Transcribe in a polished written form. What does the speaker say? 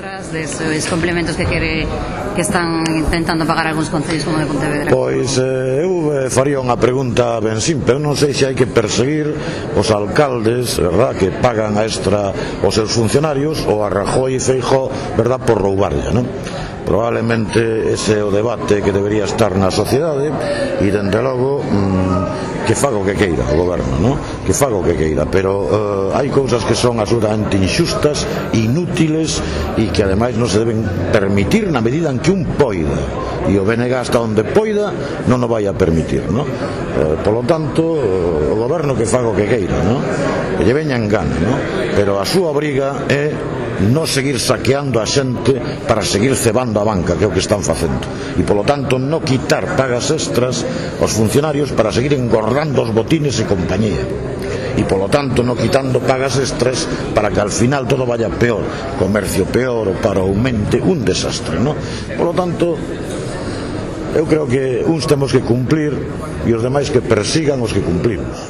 cifras deses complementos que están intentando pagar algúns concellos como de Pontevedra? Pois eu faría unha pregunta ben simple. Eu non sei se hai que perseguir os alcaldes, verdad, que pagan a extra os seus funcionarios, ou a Rajoy e Feijóo, verdad, por roubarlle, non? Probablemente ese é o debate que debería estar na sociedade, e dende logo que faga o que queira o goberno, non? Que faga o que queira, pero hai cousas que son absolutamente injustas, inútiles, e que ademais non se deben permitir na medida en que un poida, e o BNG hasta onde poida non o vai a permitir, non? Polo tanto, o goberno que faga o que queira, non? Que lle veña en gana, non? Pero a súa obriga é non seguir saqueando a xente para seguir cebando a banca, que é o que están facendo, e polo tanto non quitar pagas extras aos funcionarios para seguir engordando os botines e compañía, e polo tanto non quitando pagas extras para que al final todo vaya peor, comercio peor, o paro aumente, un desastre, non? Polo tanto, eu creo que uns temos que cumplir e os demais que persigan os que cumplimos.